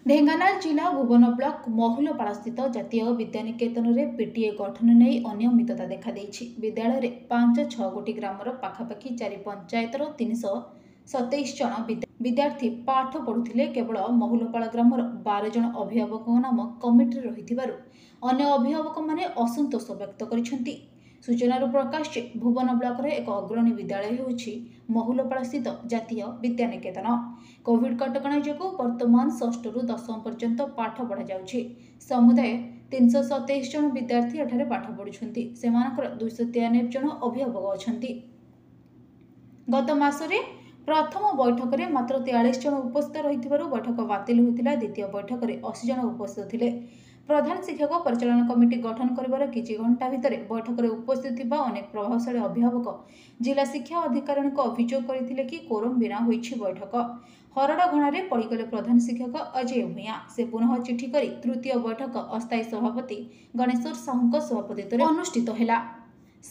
ଢେଙ୍କାନାଳ ଜିଲ୍ଲା ଭୁବନ ବ୍ଲକ ମହୁଲପାଳସ୍ଥିତ ଜାତୀୟ ବିଦ୍ୟାନିକେତନରେ ପିଟିଏ ଗଠନ ନେଇ ଅନିୟମିତତା ଦେଖାଦେଇଛି। ବିଦ୍ୟାଳୟରେ 5 6 ଗୋଟି ଗ୍ରାମର ପାଖାପାଖି 4 ପଞ୍ଚାୟତର 327 ଜଣ ବିଦ୍ୟାର୍ଥୀ ପାଠ ପଢୁଥିଲେ। କେବଳ ମହୁଲପାଳ ଗ୍ରାମର 12 ଜଣ ଅଭିଭାବକଙ୍କ ନାମ କମିଟିରେ ରହିଥିବାରୁ ଅନ୍ୟ ଅଭିଭାବକମାନେ ଅସନ୍ତୋଷ ବ୍ୟକ୍ତ କରିଛନ୍ତି। ସୂଚନାରୁ ପ୍ରକାଶ ଯେ ଭୁବନ ବ୍ଲକର ଏକ ଅଗ୍ରଣୀ ବିଦ୍ୟାଳୟ ହେଉଛି ମହୁଲପାଳସ୍ଥିତ ଜାତୀୟ ବିଦ୍ୟାନିକେତନ। କୋଭିଡ କଟକଣା ଯୋଗୁଁ ବର୍ତ୍ତମାନ ଷଷ୍ଠରୁ ଦଶମ ପର୍ଯ୍ୟନ୍ତ ପାଠ ପଢ଼ାଯାଉଛି। ସମୁଦାୟ 327 ଜଣ ବିଦ୍ୟାର୍ଥୀ ଏଠାରେ ପାଠ ପଢ଼ୁଛନ୍ତି। ସେମାନଙ୍କର 293 ଜଣ ଅଭିଭାବକ ଅଛନ୍ତି। ଗତ ମାସରେ ପ୍ରଥମ ବୈଠକରେ ମାତ୍ର 43 ଜଣ ଉପସ୍ଥିତ ରହିଥିବାରୁ ବୈଠକ ବାତିଲ ହୋଇଥିଲା। ଦ୍ୱିତୀୟ ବୈଠକରେ 80 ଜଣ ଉପସ୍ଥିତ ଥିଲେ। ପ୍ରଧାନ ଶିକ୍ଷକ ପରିଚାଳନା କମିଟି ଗଠନ କରିବାର କିଛି ଘଣ୍ଟା ଭିତରେ ବୈଠକରେ ଉପସ୍ଥିତ ଥିବା ଅନେକ ପ୍ରଭାବଶାଳୀ ଅଭିଭାବକ ଜିଲ୍ଲା ଶିକ୍ଷା ଅଧିକାରୀଙ୍କୁ ଅଭିଯୋଗ କରିଥିଲେ କି କୋରମ ବିନା ହୋଇଛି ବୈଠକ। ହରଡ଼ ଘଣାରେ ପଡ଼ିଗଲେ ପ୍ରଧାନ ଶିକ୍ଷକ ଅଜୟ ଭୂୟାଁ। ସେ ପୁନଃ ଚିଠି କରି ତୃତୀୟ ବୈଠକ ଅସ୍ଥାୟୀ ସଭାପତି ଗଣେଶ୍ୱର ସାହୁଙ୍କ ସଭାପତିତ୍ୱରେ ଅନୁଷ୍ଠିତ ହେଲା।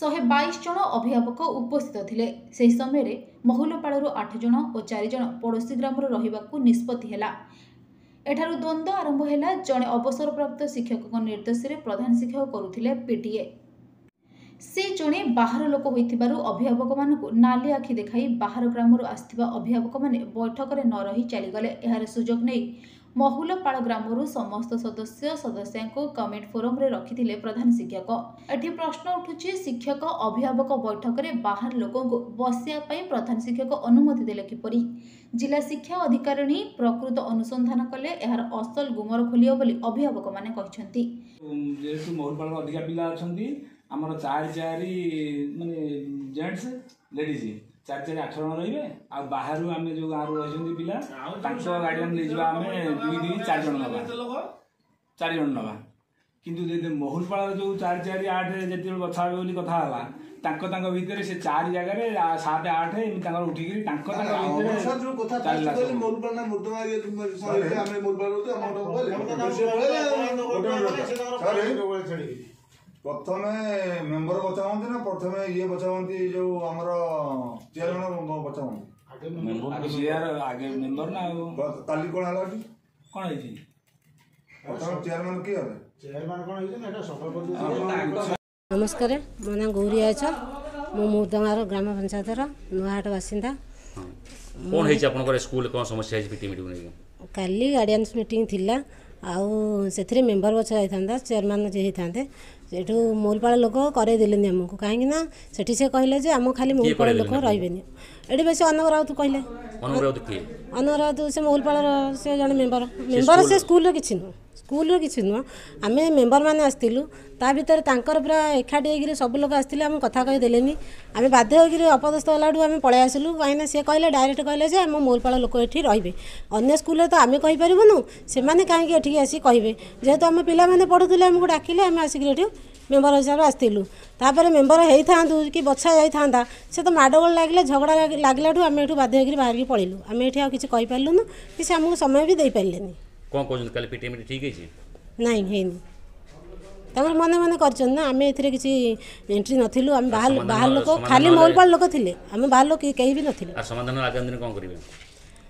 122 ଜଣ ଅଭିଭାବକ ଉପସ୍ଥିତ ଥିଲେ। ସେହି ସମୟରେ ମହୁଲପାଳରୁ 8 ଜଣ ଓ 4 ଜଣ ପଡ଼ୋଶୀ ଗ୍ରାମରୁ ରହିବାକୁ ନିଷ୍ପତ୍ତି ହେଲା। ଏଠାରୁ ଦ୍ୱନ୍ଦ୍ୱ ଆରମ୍ଭ ହେଲା। ଜଣେ ଅବସରପ୍ରାପ୍ତ ଶିକ୍ଷକଙ୍କ ନିର୍ଦ୍ଦେଶରେ ପ୍ରଧାନ ଶିକ୍ଷକ କରୁଥିଲେ ପିଟିଏ। ସେ ଜଣେ ବାହାର ଲୋକ ହୋଇଥିବାରୁ ଅଭିଭାବକମାନଙ୍କୁ ନାଲି ଆଖି ଦେଖାଇ ବାହାର ଗ୍ରାମରୁ ଆସିଥିବା ଅଭିଭାବକମାନେ ବୈଠକରେ ନ ରହି ଚାଲିଗଲେ। ଏହାର ସୁଯୋଗ ନେଇ ମହୁଲପାଳ ଗ୍ରାମରୁ ସମସ୍ତ ସଦସ୍ୟ ସଦସ୍ୟାଙ୍କୁ କମିଟି ଫୋରମରେ ରଖିଥିଲେ ପ୍ରଧାନ ଶିକ୍ଷକ। ଏଠି ପ୍ରଶ୍ନ ଉଠୁଛି, ଶିକ୍ଷକ ଅଭିଭାବକ ବୈଠକରେ ବାହାର ଲୋକଙ୍କୁ ବସିବା ପାଇଁ ପ୍ରଧାନ ଶିକ୍ଷକ ଅନୁମତି ଦେଲେ କିପରି? ଜିଲ୍ଲା ଶିକ୍ଷା ଅଧିକାରିଣୀ ପ୍ରକୃତ ଅନୁସନ୍ଧାନ କଲେ ଏହାର ଅସଲ ଗୁମର ଖୋଲିବ ବୋଲି ଅଭିଭାବକମାନେ କହିଛନ୍ତି। ଯେହେତୁ ମହୁଲପାଳର ଅଧିକା ପିଲା ଅଛନ୍ତି, ଆମର 4 4 ମାନେ ଜେଣ୍ଟସ୍ ଲେଡ଼ିଜ୍ 4 4 8 ଜଣ ରହିବେ। ଆଉ ବାହାରୁ ଆମେ ଯେଉଁ ଗାଁରୁ ରହିଛନ୍ତି ପିଲା, ତାଙ୍କ ଗାର୍ଡ଼ିଆନ୍ ନେଇଯିବା ଆମେ 2 2 4 ଜଣ ନେବା, 4 ଜଣ ନେବା। କିନ୍ତୁ ଯଦି ମହୁଲପାଳର ଯେଉଁ 4 4 8 ଯେତେବେଳେ ବଛା ହେବ ବୋଲି କଥା ହେଲା, ତାଙ୍କ ତାଙ୍କ ଭିତରେ ସେ 4 ଜାଗାରେ 7 8 ଏମିତି ତାଙ୍କର ଉଠିକିରି ତାଙ୍କ ତାଙ୍କ ଭିତରେ ଚାଲିଲା ସବୁ। ପ୍ରଥମେ ମେମ୍ବର ବଛା ହୁଅନ୍ତି ନା ପ୍ରଥମେ ଇଏ ବଛା ହୁଅନ୍ତି, ଯୋଉ ଆମର ଚେୟାରମ୍ୟାନ ବଛା ହୁଅନ୍ତି? ଆଗେ ଚେୟାର, ଆଗେ ମେମ୍ବର ନା। ଆଉ କାଲି କଣ ହେଲା ଏଠି? କଣ ହେଇଛି? ପ୍ରଥମେ ଚେୟାରମ୍ୟାନ କିଏ ହେଲେ? ନମସ୍କାର, ମୋ ନାଁ ଗୌରୀ ଆଇଚ। ମୁଁ ମୁର୍ଦଙ୍ଗାର ଗ୍ରାମ ପଞ୍ଚାୟତର ନୂଆହାଟ ବାସିନ୍ଦା। କ'ଣ ହେଇଛି ଆପଣଙ୍କର ସ୍କୁଲରେ? କ'ଣ ସମସ୍ୟା ହେଇଛି ପିଟି ମିଟିଂ ନେଇକି? କାଲି ଗାର୍ଡ଼ିଆନ୍ସ ମିଟିଂ ଥିଲା, ଆଉ ସେଥିରେ ମେମ୍ବର ବଛା ଯାଇଥାନ୍ତା, ଚେୟାରମ୍ୟାନ୍ ଯିଏ ହେଇଥାନ୍ତେ। ସେଠୁ ମହୁଲପାଳ ଲୋକ କରେଇ ଦେଲେନି ଆମକୁ, କାହିଁକି ନା ସେଠି ସେ କହିଲେ ଯେ ଆମ ଖାଲି ମହୁଲପାଳ ଲୋକ ରହିବେନି ଏଠି। ବେଶୀ ଅନକ ରାଉତ କହିଲେ। ଅନକ ରାଉତ କିଏ? ଅନକ ରାଉତ ସେ ମହୁଲପାଳର ସେ ଜଣେ ମେମ୍ବର। ମେମ୍ବର ସେ ସ୍କୁଲର କିଛି ନୁହଁ, ସ୍କୁଲର କିଛି ନୁହଁ। ଆମେ ମେମ୍ବରମାନେ ଆସିଥିଲୁ, ତା ଭିତରେ ତାଙ୍କର ପୁରା ଏକାଠି ହେଇକିରି ସବୁ ଲୋକ ଆସିଥିଲେ, ଆମକୁ କଥା କହିଦେଲେନି। ଆମେ ବାଧ୍ୟ ହେଇକିରି ଅପଦସ୍ଥ ହେଲାଠୁ ଆମେ ପଳେଇ ଆସିଲୁ, କାହିଁକିନା ସେ କହିଲେ, ଡାଇରେକ୍ଟ କହିଲେ ଯେ ଆମ ମହୁଲପାଳ ଲୋକ ଏଠି ରହିବେ। ଅନ୍ୟ ସ୍କୁଲରେ ତ ଆମେ କହିପାରିବୁନୁ, ସେମାନେ କାହିଁକି ଏଠିକି ଆସି କହିବେ? ଯେହେତୁ ଆମ ପିଲାମାନେ ପଢ଼ୁଥିଲେ, ଆମକୁ ଡାକିଲେ, ଆମେ ଆସିକିରି ଏଠି ମେମ୍ବର ହିସାବରେ ଆସିଥିଲୁ। ତାପରେ ମେମ୍ବର ହେଇଥାନ୍ତୁ କି ବଛା ଯାଇଥାନ୍ତା, ସେ ତ ମାଡ଼ଗୋଳ ଲାଗିଲେ, ଝଗଡ଼ା ଲାଗିଲାଠୁ ଆମେ ଏଠୁ ବାଧ୍ୟ ହେଇକିରି ବାହାରିକି ପଳେଇଲୁ। ଆମେ ଏଠି ଆଉ କିଛି କହିପାରିଲୁନୁ କି ସେ ଆମକୁ ସମୟ ବି ଦେଇପାରିଲେନି। କ'ଣ କହୁଛନ୍ତି, କାଲି ପିଟି ମିଟିଂ ଠିକ୍ ହେଇଛି? ନାଇଁ, ହେଇନି। ତାଙ୍କର ମନେ ମନେ କରିଛନ୍ତି ନା, ଆମେ ଏଥିରେ କିଛି ଏଣ୍ଟ୍ରି ନଥିଲୁ। ଆମେ ବାହାର ଲୋକ, ଖାଲି ମହୁଲପାଳ ଲୋକ ଥିଲେ, ଆମେ ବାହାର ଲୋକ କେହି ବି ନଥିଲେ। ଆଉ ସମାଧାନ ଆଗାମୀ ଦିନ କ'ଣ କରିବେ?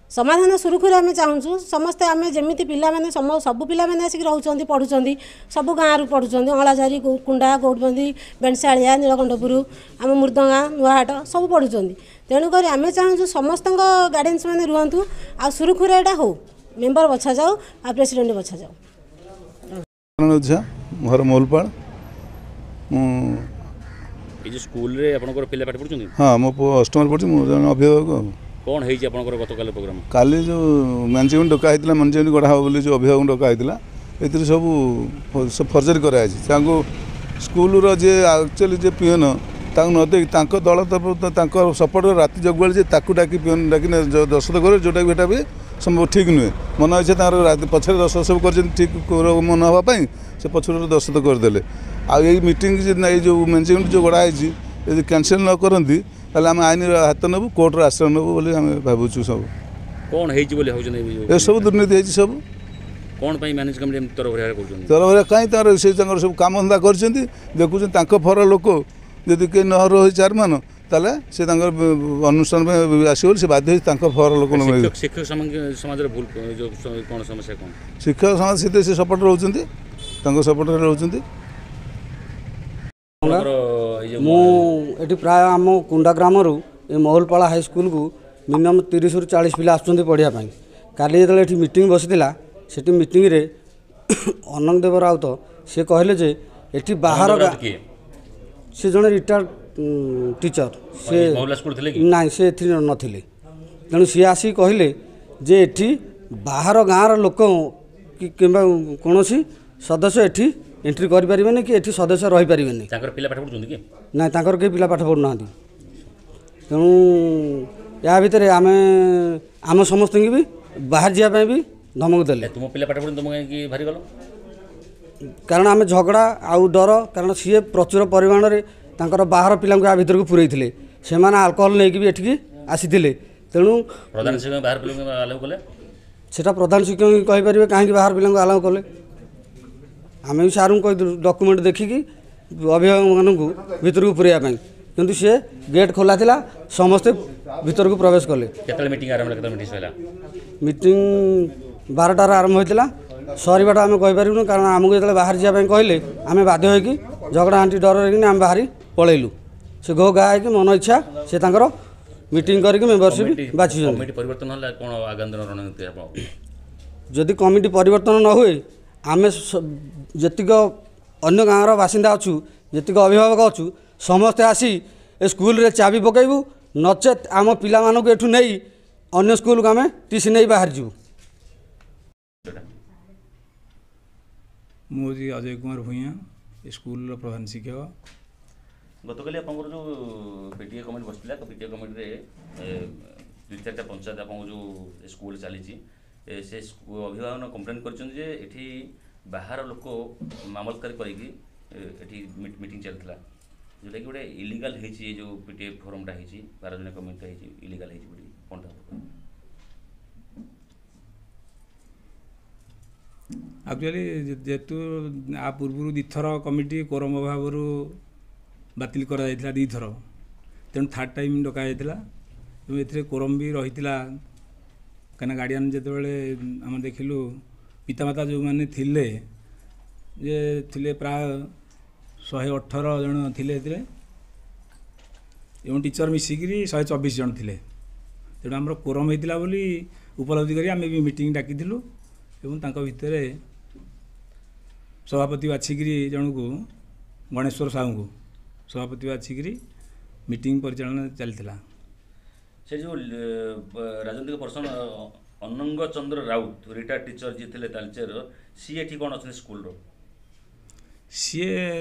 ସମାଧାନ ସୁରୁଖୁରୁରେ ଆମେ ଚାହୁଁଛୁ। ସମସ୍ତେ ଆମେ ଯେମିତି ପିଲାମାନେ, ସବୁ ପିଲାମାନେ ଆସିକି ରହୁଛନ୍ତି, ପଢ଼ୁଛନ୍ତି, ସବୁ ଗାଁରୁ ପଢ଼ୁଛନ୍ତି, ଅଁଳାଝାରି, କୁଣ୍ଡା, ଗୌଡ଼ବନ୍ଦି, ବେଣଶାଳିଆ, ନୀଳକଣ୍ଠପୁର, ଆମ ମୁର୍ଦଙ୍ଗା, ନୂଆହାଟ ସବୁ ପଢ଼ୁଛନ୍ତି। ତେଣୁକରି ଆମେ ଚାହୁଁଛୁ ସମସ୍ତଙ୍କ ଗାର୍ଡ଼ିଆନ୍ସ ମାନେ ରୁହନ୍ତୁ ଆଉ ସୁରୁଖୁରୁରେ ଏଇଟା ହଉ, ମେମ୍ବର ବଛାଯାଉ ଆଉ ପ୍ରେସିଡେଣ୍ଟ ବଛାଯାଉ। ଓଝା, ଘର ମହୁଲପାଳ। ମୁଁ ଏଇ ଯେଉଁ ସ୍କୁଲରେ ଆପଣଙ୍କର ପିଲା ପାଠ ପଢ଼ୁଛନ୍ତି? ହଁ, ମୋ ପୁଅ ଅଷ୍ଟମରେ ପଢ଼ୁଛି। ମୁଁ ଜଣେ ଅଭିଭାବକ। ଆଉ କ'ଣ ହେଇଛି ଆପଣଙ୍କର ଗତକାଲି ପ୍ରୋଗ୍ରାମ? କାଲି ଯେଉଁ ମ୍ୟାନେଜମେଣ୍ଟ ଡକା ହେଇଥିଲା, ମ୍ୟାନେଜମେଣ୍ଟ ଗଢ଼ା ହେବ ବୋଲି ଯେଉଁ ଅଭିଭାବକଙ୍କୁ ଡକା ହେଇଥିଲା, ଏଥିରେ ସବୁ ଫର୍ଜରୀ କରାଯାଇଛି। ତାଙ୍କୁ ସ୍କୁଲର ଯିଏ ଆକ୍ଚୁଆଲି ଯିଏ ପିଅନ ତାଙ୍କୁ ନ ଦେଇ ତାଙ୍କ ଦଳ ତରଫରୁ ତାଙ୍କ ସପୋର୍ଟ ରାତି ଜଗୁଆଳି ଯେ ତାକୁ ଡାକି, ପିଅନ ଡାକି ଦସ୍ତଖତ କରିବେ, ଯେଉଁଟାକି ଏଇଟା ବି ସମ୍ଭବ ଠିକ୍ ନୁହେଁ। ମନ ଇଚ୍ଛା ତାଙ୍କର ରାତି ପଛରେ ଦସ୍ତଖତ ସବୁ କରିଛନ୍ତି, ଠିକ୍ ମନ ହେବା ପାଇଁ ସେ ପଛରୁ ଦସ୍ତଖତ କରିଦେଲେ। ଆଉ ଏଇ ମିଟିଂ, ଏଇ ଯେଉଁ ମ୍ୟାନେଜମେଣ୍ଟ ଯେଉଁ ଗଢ଼ା ହେଇଛି, ଯଦି କ୍ୟାନସେଲ୍ ନ କରନ୍ତି ତାହେଲେ ଆମେ ଆଇନର ହାତ ନେବୁ, କୋର୍ଟର ଆଶ୍ରୟ ନେବୁ ବୋଲି ଆମେ ଭାବୁଛୁ। ସବୁ କ'ଣ ହେଇଛି ବୋଲି ଭାବୁଛନ୍ତି? ଏସବୁ ଦୁର୍ନୀତି ହେଇଛି ସବୁ। କ'ଣ ପାଇଁ ମ୍ୟାନେଜ କମିଟି ଏମିତି ତରବରିଆ କରୁଛନ୍ତି? ତରବରିଆ କାହିଁ ତାଙ୍କର ସେ ତାଙ୍କର ସବୁ କାମଧନ୍ଦା କରିଛନ୍ତି। ଦେଖୁଛନ୍ତି ତାଙ୍କ ଫର ଲୋକ ଯଦି କେହି ନ ରହି ଚାରିମାନ, ତାହେଲେ ସେ ତାଙ୍କର ଅନୁଷ୍ଠାନ ପାଇଁ ଆସିବ ବୋଲି ସେ ବାଧ୍ୟ ହେଇ ତାଙ୍କ ଫର ଲୋକ। ଶିକ୍ଷକ ସମାଜର ଭୁଲ କ'ଣ, ସମସ୍ୟା କ'ଣ? ଶିକ୍ଷକ ସମାଜ ସେଥିରେ ସେ ସପୋର୍ଟ ରହୁଛନ୍ତି, ତାଙ୍କ ସପୋର୍ଟରେ ରହୁଛନ୍ତି। ମୁଁ ଏଠି ପ୍ରାୟ ଆମ କୁଣ୍ଡା ଗ୍ରାମରୁ ଏ ମହୁଲପାଳ ହାଇସ୍କୁଲକୁ ମିନିମମ୍ 30ରୁ 40 ପିଲା ଆସୁଛନ୍ତି ପଢ଼ିବା ପାଇଁ। କାଲି ଯେତେବେଳେ ଏଠି ମିଟିଂ ବସିଥିଲା, ସେଠି ମିଟିଂରେ ଅନଙ୍ଗ ଦେବ ରାଉତ ସେ କହିଲେ ଯେ ଏଠି ବାହାର, ସେ ଜଣେ ରିଟାୟାର୍ଡ଼ ଟିଚର, ସେ ନାଇଁ, ସେ ଏଥିରେ ନଥିଲେ। ତେଣୁ ସିଏ ଆସିକି କହିଲେ ଯେ ଏଠି ବାହାର ଗାଁର ଲୋକ କି କିମ୍ବା କୌଣସି ସଦସ୍ୟ ଏଠି ଏଣ୍ଟ୍ରି କରିପାରିବେନି କି ଏଠି ସଦସ୍ୟ ରହିପାରିବେନି। ତାଙ୍କର ପିଲା ପାଠ ପଢ଼ୁଛନ୍ତି କି? ନାଇଁ, ତାଙ୍କର କେହି ପିଲା ପାଠ ପଢ଼ୁନାହାନ୍ତି। ତେଣୁ ୟା ଭିତରେ ଆମେ ଆମ ସମସ୍ତଙ୍କୁ ବି ବାହାରି ଯିବା ପାଇଁ ବି ଧମକ ଦେଲେ। ତୁମ ପିଲା ପାଠ ପଢ଼ୁଛନ୍ତି, ତୁମ କାହିଁକି ବାହାରି ଗଲ? କାରଣ ଆମେ ଝଗଡ଼ା ଆଉ ଡର, କାରଣ ସିଏ ପ୍ରଚୁର ପରିମାଣରେ ତାଙ୍କର ବାହାର ପିଲାଙ୍କୁ ୟା ଭିତରକୁ ପୁରେଇଥିଲେ। ସେମାନେ ଆଲକୋହଲ ନେଇକି ବି ଏଠିକି ଆସିଥିଲେ। ତେଣୁ ପ୍ରଧାନ ଶିକ୍ଷକ ବାହାର ପିଲାଙ୍କୁ ଆଲାଉ କଲେ, ସେଟା ପ୍ରଧାନ ଶିକ୍ଷକ କହିପାରିବେ କାହିଁକି ବାହାର ପିଲାଙ୍କୁ ଆଲାଉ କଲେ। ଆମେ ବି ସାର୍ଙ୍କୁ କହିଥିଲୁ ଡକୁମେଣ୍ଟ ଦେଖିକି ଅଭିଭାବକମାନଙ୍କୁ ଭିତରକୁ ପୁରେଇବା ପାଇଁ, କିନ୍ତୁ ସିଏ ଗେଟ୍ ଖୋଲା ଥିଲା, ସମସ୍ତେ ଭିତରକୁ ପ୍ରବେଶ କଲେ। କେତେବେଳେ ମିଟିଂ ଆରମ୍ଭ ହେଲା, କେତେବେଳେ ମିଟିଂ ସରିଲା? ମିଟିଂ 12ଟାରେ ଆରମ୍ଭ ହୋଇଥିଲା, ସରିବାଟା ଆମେ କହିପାରିବୁନୁ, କାରଣ ଆମକୁ ଯେତେବେଳେ ବାହାରି ଯିବା ପାଇଁ କହିଲେ ଆମେ ବାଧ୍ୟ ହୋଇକି ଝଗଡ଼ା ଆଣ୍ଟି ଡର ହେଇକିନି ଆମେ ବାହାରି ପଳେଇଲୁ। ସେ ଘୋ ଘା ହେଇକି ମନ ଇଚ୍ଛା ସେ ତାଙ୍କର ମିଟିଂ କରିକି ମେମ୍ବରସିପ୍ ବାଛିଛନ୍ତି। କମିଟି ପରିବର୍ତ୍ତନ ହେଲା, କ'ଣ ଆଗାମୀ ଦିନ ରଣନୀତି ଆପଣ? ଯଦି କମିଟି ପରିବର୍ତ୍ତନ ନ ହୁଏ, ଆମେ ଯେତିକ ଅନ୍ୟ ଗାଁର ବାସିନ୍ଦା ଅଛୁ, ଯେତିକ ଅଭିଭାବକ ଅଛୁ, ସମସ୍ତେ ଆସି ଏ ସ୍କୁଲରେ ଚାବି ପକାଇବୁ, ନଚେତ୍ ଆମ ପିଲାମାନଙ୍କୁ ଏଠୁ ନେଇ ଅନ୍ୟ ସ୍କୁଲକୁ ଆମେ ଟିସି ନେଇ ବାହାରିଯିବୁ। ମୁଁ ହେଉଛି ଅଜୟ କୁମାର ଭୂୟାଁ, ଏ ସ୍କୁଲର ପ୍ରଧାନ ଶିକ୍ଷକ। ଗତକାଲି ଆପଣଙ୍କର ଯେଉଁ ପିଟିଏ କମିଟି ବସିଥିଲା, ପିଟିଏ କମିଟିରେ 2 4ଟା ପଞ୍ଚାୟତ ଆପଣଙ୍କ ଯେଉଁ ସ୍କୁଲ ଚାଲିଛି, ସେ ଅଭିଭାବକ କମ୍ପ୍ଲେନ୍ କରିଛନ୍ତି ଯେ ଏଠି ବାହାର ଲୋକ ମାମଲତକାରୀ କରିକି ଏଠି ମିଟିଂ ଚାଲିଥିଲା, ଯେଉଁଟାକି ଗୋଟେ ଇଲିଗାଲ ହେଇଛି। ଏ ଯେଉଁ ପିଟିଏ ଫୋରମ୍ଟା ହେଇଛି, 12 ଜଣିଆ କମିଟିଟା ହେଇଛି, ଇଲିଗାଲ ହେଇଛି ବୋଲି କ'ଣଟା? ଆକ୍ଚୁଆଲି ଯେହେତୁ ଆ ପୂର୍ବରୁ 2ଥର କମିଟି କୋରମ ଅଭାବରୁ ବାତିଲ କରାଯାଇଥିଲା 2ଥର, ତେଣୁ ଥାର୍ଡ଼ ଟାଇମ୍ ଡକାଯାଇଥିଲା ଏବଂ ଏଥିରେ କୋରମ ବି ରହିଥିଲା। କାହିଁକିନା ଗାର୍ଡ଼ିଆନ୍ ଯେତେବେଳେ ଆମେ ଦେଖିଲୁ, ପିତାମାତା ଯେଉଁମାନେ ଥିଲେ ଯେ ଥିଲେ ପ୍ରାୟ 118 ଜଣ ଥିଲେ ଏଥିରେ, ଏବଂ ଟିଚର୍ ମିଶିକିରି 124 ଜଣ ଥିଲେ। ତେଣୁ ଆମର କୋରମ ହେଇଥିଲା ବୋଲି ଉପଲବ୍ଧି କରି ଆମେ ବି ମିଟିଂ ଡାକିଥିଲୁ ଏବଂ ତାଙ୍କ ଭିତରେ ସଭାପତି ବାଛିକିରି ଜଣକୁ, ଗଣେଶ୍ୱର ସାହୁଙ୍କୁ ସଭାପତି ବାଛିକିରି ମିଟିଂ ପରିଚାଳନା ଚାଲିଥିଲା। ସେ ଯେଉଁ ରାଜନୈତିକ person Anang Chandra Raut, retired teacher ଯିଏ ଥିଲେ ତାଲଚେର, ସିଏ ଏଠି କ'ଣ ଅଛନ୍ତି ସ୍କୁଲର? ସିଏ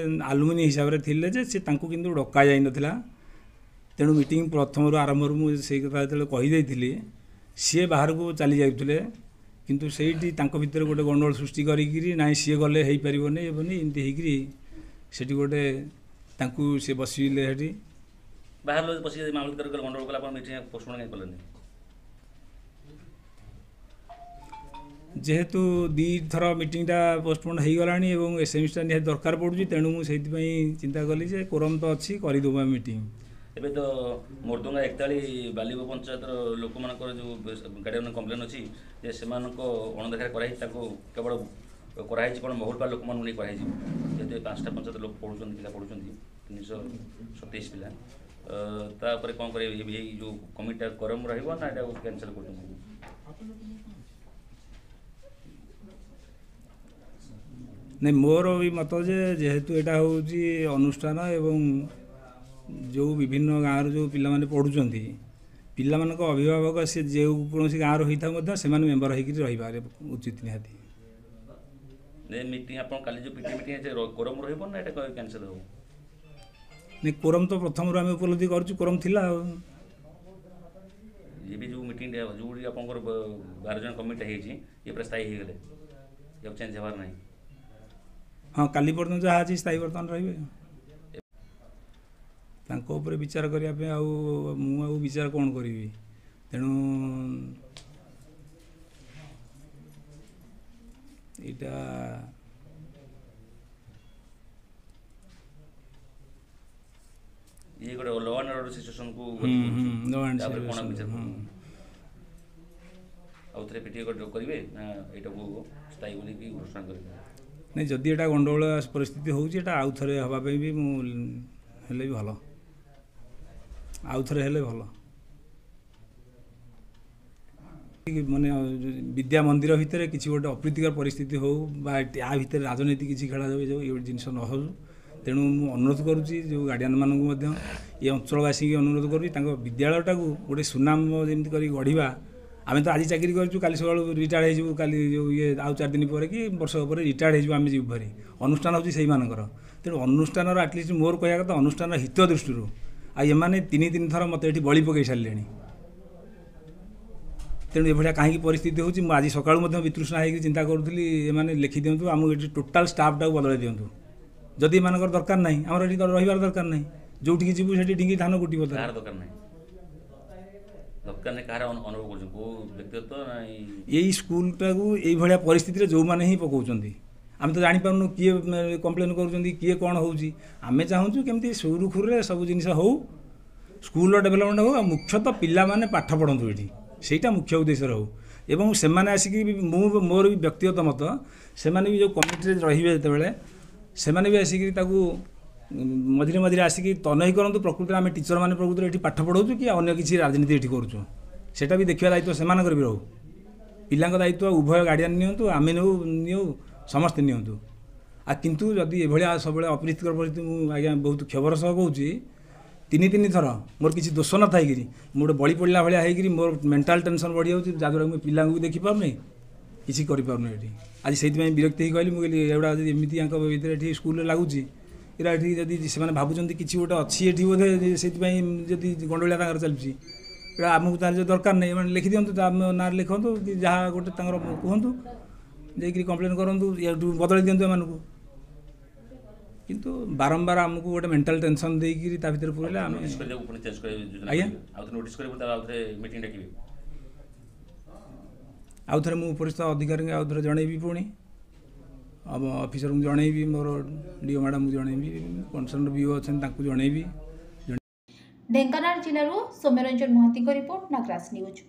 ଆଲୁମିନି ହିସାବରେ ଥିଲେ ଯେ ସେ ତାଙ୍କୁ କିନ୍ତୁ ଡକା ଯାଇନଥିଲା। ତେଣୁ ମିଟିଂ ପ୍ରଥମରୁ ଆରମ୍ଭରୁ ମୁଁ ସେଇ କଥା ଯେତେବେଳେ କହିଦେଇଥିଲି, ସିଏ ବାହାରକୁ ଚାଲି ଯାଉଥିଲେ, କିନ୍ତୁ ସେଇଠି ତାଙ୍କ ଭିତରେ ଗୋଟେ ଗଣ୍ଡଗୋଳ ସୃଷ୍ଟି କରିକିରି ନାଇଁ ସିଏ ଗଲେ ହେଇପାରିବନି ହେବନି ଏମିତି ହେଇକିରି ସେଠି ଗୋଟେ ତାଙ୍କୁ ସେ ବସିଲେ ସେଠି। ବାହାର ଲୋକ ବସିକି ମାମଲତକାର ଗଣ୍ଡଗୋଳ କଲା, ଆପଣ ମିଟିଂ ପୋଷ୍ଟପୋନ୍ କାହିଁ କଲେନି? ଯେହେତୁ 2ଥର ମିଟିଂଟା ପୋଷ୍ଟପୋନ୍ ହେଇଗଲାଣି ଏବଂ ଏସ୍ଏମ୍ସିଟା ନିହାତି ଦରକାର ପଡ଼ୁଛି, ତେଣୁ ମୁଁ ସେଇଥିପାଇଁ ଚିନ୍ତା କଲି ଯେ କୋରମ୍ ତ ଅଛି, କରିଦେବୁ ଆମେ ମିଟିଂ। ଏବେ ତ ମୋରଦଙ୍ଗା ଏକତାଳି ବାଲିବ ପଞ୍ଚାୟତର ଲୋକମାନଙ୍କର ଯେଉଁ ଗାର୍ଡ଼ିଆନ୍ କମ୍ପ୍ଲେନ୍ ଅଛି ଯେ ସେମାନଙ୍କ ଅଣଦେଖାରେ କରାହେଇଛି, ତାଙ୍କୁ କେବଳ କରାହେଇଛି କ'ଣ ମହୁଲପାଳ ଲୋକମାନଙ୍କୁ ନେଇ କରାହେଇଛି। ଯେହେତୁ 5ଟା ପଞ୍ଚାୟତ ଲୋକ ପଢ଼ୁଛନ୍ତି, ପିଲା ପଢ଼ୁଛନ୍ତି 327 ପିଲା, ତାପରେ କ'ଣ କରିବେ? ଏଇ ଯେଉଁ କମିଟିଟା ଗରମ ରହିବ ନା ଏଟାକୁ କ୍ୟାନସଲ୍ କରୁଛନ୍ତି? ନାଇଁ, ମୋର ବି ମତ ଯେ ଯେହେତୁ ଏଇଟା ହେଉଛି ଅନୁଷ୍ଠାନ ଏବଂ ଯେଉଁ ବିଭିନ୍ନ ଗାଁରୁ ଯେଉଁ ପିଲାମାନେ ପଢ଼ୁଛନ୍ତି, ପିଲାମାନଙ୍କ ଅଭିଭାବକ ସେ ଯେଉଁ କୌଣସି ଗାଁରୁ ହେଇଥାଉ ମଧ୍ୟ ସେମାନେ ମେମ୍ବର ହେଇକିରି ରହିବା ଉଚିତ ନିହାତି। ମିଟିଂ ଆପଣ କାଲି ଯେଉଁ ପିଟି ମିଟିଂ ଅଛି, କୋରମ୍ ରହିବ ନା ଏଇଟା କ୍ୟାନସଲ୍ ହେବ? ନାଇଁ, କୋରମ୍ ତ ପ୍ରଥମରୁ ଆମେ ଉପଲବ୍ଧି କରୁଛୁ କୋରମ୍ ଥିଲା। ଆଉ ଇଏ ବି ଯେଉଁ ମିଟିଂଟା ଯେଉଁଠି ଆପଣଙ୍କର 12 ଜଣ କମିଟିଟା ହେଇଛି, ଇଏ ପୁରା ସ୍ଥାୟୀ ହେଇଗଲେ, ଆଉ ଚେଞ୍ଜ ହେବାର ନାହିଁ? ହଁ, କାଲି ପର୍ଯ୍ୟନ୍ତ ଯାହା ଅଛି ସ୍ଥାୟୀ ବର୍ତ୍ତମାନ ରହିବେ। ତାଙ୍କ ଉପରେ ବିଚାର କରିବା ପାଇଁ ଆଉ ମୁଁ ଆଉ ବିଚାର କ'ଣ କରିବି? ତେଣୁ ଏଇଟା ଇଏ ଗୋଟେ ଗୋଟେ ଲ ଆଣ୍ଡ ଅର୍ଡର ସିଚୁଏସନକୁ। ଲ ଆଣ୍ଡ ତାପରେ କ'ଣ ବିଚାର, ଆଉ ଥରେ ପିଟିଏ କରିବେ ନା ଏଇଟାକୁ ସ୍ଥାୟୀ ବୋଲିକି ଘୋଷଣା କରିବେ? ନାଇଁ, ଯଦି ଏଇଟା ଗଣ୍ଡଗୋଳ ପରିସ୍ଥିତି ହେଉଛି, ଏଇଟା ଆଉ ଥରେ ହେବା ପାଇଁ ବି ମୁଁ ହେଲେ ବି ଭଲ, ଆଉ ଥରେ ହେଲେ ଭଲ। ମାନେ ବିଦ୍ୟା ମନ୍ଦିର ଭିତରେ କିଛି ଗୋଟେ ଅପ୍ରୀତିକର ପରିସ୍ଥିତି ହେଉ ବା ୟା ଭିତରେ ରାଜନୀତି କିଛି ଖେଳାଯାଉ, ଏ ଯେଉଁ ଏ ଜିନିଷ ନ ହେଉ। ତେଣୁ ମୁଁ ଅନୁରୋଧ କରୁଛି ଯେଉଁ ଗାର୍ଡ଼ିଆନମାନଙ୍କୁ ମଧ୍ୟ, ଏ ଅଞ୍ଚଳବାସୀଙ୍କୁ ଅନୁରୋଧ କରୁଛି, ତାଙ୍କ ବିଦ୍ୟାଳୟଟାକୁ ଗୋଟେ ସୁନାମ ଯେମିତି କରି ଗଢ଼ିବା। ଆମେ ତ ଆଜି ଚାକିରି କରିଛୁ, କାଲି ସକାଳୁ ରିଟାୟାର୍ଡ଼ ହେଇଯିବୁ, କାଲି ଯେଉଁ ଇଏ ଆଉ 4 ଦିନ ପରେ କି ବର୍ଷ ପରେ ରିଟାୟାର୍ଡ଼ ହେଇଯିବୁ, ଆମେ ଯିବୁ ଭାରି। ଅନୁଷ୍ଠାନ ହେଉଛି ସେଇମାନଙ୍କର। ତେଣୁ ଅନୁଷ୍ଠାନର ଆଟଲିଷ୍ଟ ମୋର କହିବା କଥା ଅନୁଷ୍ଠାନର ହିତ ଦୃଷ୍ଟିରୁ। ଆଉ ଏମାନେ 3 3 ଥର ମୋତେ ଏଠି ବଳି ପକାଇ ସାରିଲେଣି। ତେଣୁ ଏଭଳିଆ କାହିଁକି ପରିସ୍ଥିତି ହେଉଛି, ମୁଁ ଆଜି ସକାଳୁ ମଧ୍ୟ ବିତୃଷ୍ଣା ହେଇକି ଚିନ୍ତା କରୁଥିଲି। ଏମାନେ ଲେଖିଦିଅନ୍ତୁ, ଆମକୁ ଏଠି ଟୋଟାଲ୍ ଷ୍ଟାଫ୍ଟାକୁ ବଦଳାଇ ଦିଅନ୍ତୁ। ଯଦି ଏମାନଙ୍କର ଦରକାର ନାହିଁ, ଆମର ଏଠି ରହିବାର ଦରକାର ନାହିଁ। ଯେଉଁଠିକି ଯିବୁ ସେଠି ଢିଙ୍କି ଧାନ କୁଟିବ। କାହାର ଦରକାର ନାହିଁ? ଦରକାର ନାହିଁ କାହାର ଅନୁଭବ କରୁଛନ୍ତି, କେଉଁ ବ୍ୟକ୍ତିଗତ? ଏଇ ସ୍କୁଲଟାକୁ ଏଇଭଳିଆ ପରିସ୍ଥିତିରେ ଯେଉଁମାନେ ହିଁ ପକାଉଛନ୍ତି, ଆମେ ତ ଜାଣିପାରୁନୁ କିଏ କମ୍ପ୍ଲେନ୍ କରୁଛନ୍ତି, କିଏ କ'ଣ ହେଉଛି। ଆମେ ଚାହୁଁଛୁ କେମିତି ସୁରୁଖୁରୁରେ ସବୁ ଜିନିଷ ହେଉ, ସ୍କୁଲର ଡେଭଲପମେଣ୍ଟ ହେଉ, ଆଉ ମୁଖ୍ୟତଃ ପିଲାମାନେ ପାଠ ପଢ଼ନ୍ତୁ ଏଠି, ସେଇଟା ମୁଖ୍ୟ ଉଦ୍ଦେଶ୍ୟ ରହୁ। ଏବଂ ସେମାନେ ଆସିକି ବି, ମୁଁ ମୋର ବି ବ୍ୟକ୍ତିଗତ ମତ, ସେମାନେ ବି ଯେଉଁ କମିଟିରେ ରହିବେ ଯେତେବେଳେ, ସେମାନେ ବି ଆସିକି ତାକୁ ମଝିରେ ମଝିରେ ଆସିକି ତନଖି କରନ୍ତୁ, ପ୍ରକୃତରେ ଆମେ ଟିଚରମାନେ ପ୍ରକୃତରେ ଏଠି ପାଠ ପଢ଼ାଉଛୁ କି ଅନ୍ୟ କିଛି ରାଜନୀତି ଏଠି କରୁଛୁ, ସେଇଟା ବି ଦେଖିବା ଦାୟିତ୍ୱ ସେମାନଙ୍କର ବି ରହୁ। ପିଲାଙ୍କ ଦାୟିତ୍ୱ ଉଭୟ ଗାର୍ଡ଼ିଆନ୍ ନିଅନ୍ତୁ, ଆମେ ନେଉ ନିଅଉ, ସମସ୍ତେ ନିଅନ୍ତୁ। ଆଉ କିନ୍ତୁ ଯଦି ଏଭଳିଆ ସବୁବେଳେ ଅପ୍ରୀତିକର ପରିସ୍ଥିତି, ମୁଁ ଆଜ୍ଞା ବହୁତ କ୍ଷୋଭର ସହ କହୁଛି, 3 3 ଥର ମୋର କିଛି ଦୋଷ ନଥାଇକିରି ମୁଁ ଗୋଟେ ବଳି ପଡ଼ିଲା ଭଳିଆ ହେଇକିରି ମୋର ମେଣ୍ଟାଲ୍ ଟେନସନ୍ ବଢ଼ିଯାଉଛି, ଯାହାଦ୍ୱାରା ମୁଁ ପିଲାଙ୍କୁ ବି ଦେଖିପାରୁନି, କିଛି କରିପାରୁନି ଏଠି। ଆଜି ସେଇଥିପାଇଁ ବିରକ୍ତି ହେଇ କହିଲି, ମୁଁ କହିଲି ଏଗୁଡ଼ା ଯଦି ଏମିତି ୟାଙ୍କ ଭିତରେ ଏଠି ସ୍କୁଲରେ ଲାଗୁଛି, ଏରା ଏଠି ଯଦି ସେମାନେ ଭାବୁଛନ୍ତି କିଛି ଗୋଟେ ଅଛି ଏଠି ବୋଧେ, ସେଇଥିପାଇଁ ଯଦି ଗଣ୍ଡଗୋଳିଆ ତାଙ୍କର ଚାଲିଛି, ଏଇଟା ଆମକୁ ତାହେଲେ ଯଦି ଦରକାର ନାହିଁ, ଏମାନେ ଲେଖିଦିଅନ୍ତୁ, ଆମ ନାଁରେ ଲେଖନ୍ତୁ କି ଯାହା ଗୋଟେ ତାଙ୍କର କୁହନ୍ତୁ, ଯାଇକରି କମ୍ପ୍ଲେନ୍ କରନ୍ତୁ, ଏଠୁ ବଦଳାଇ ଦିଅନ୍ତୁ ଏମାନଙ୍କୁ। କିନ୍ତୁ ବାରମ୍ବାର ଆମକୁ ଗୋଟେ ମେଣ୍ଟାଲ୍ ଟେନସନ୍ ଦେଇକିରି ତା ଭିତରେ ପୁରେଇଲେ ଆମେ ଆଜ୍ଞା। ଆଉ ଥରେ ମୁଁ ଉପରିସ୍ଥ ଅଧିକାରୀଙ୍କୁ ଆଉ ଥରେ ଜଣେଇବି, ପୁଣି ଅଫିସରଙ୍କୁ ଜଣେଇବି, ମୋର ଡିଓ ମ୍ୟାଡ଼ାମଙ୍କୁ ଜଣେଇବି, କନସର୍ନ ବିଓ ଅଛନ୍ତି ତାଙ୍କୁ ଜଣେଇବି। ଢେଙ୍କାନାଳ ଜିଲ୍ଲାରୁ ସୌମ୍ୟରଞ୍ଜନ ମହାନ୍ତିଙ୍କ ରିପୋର୍ଟ, ନାଗରାଜ ନ୍ୟୁଜ୍।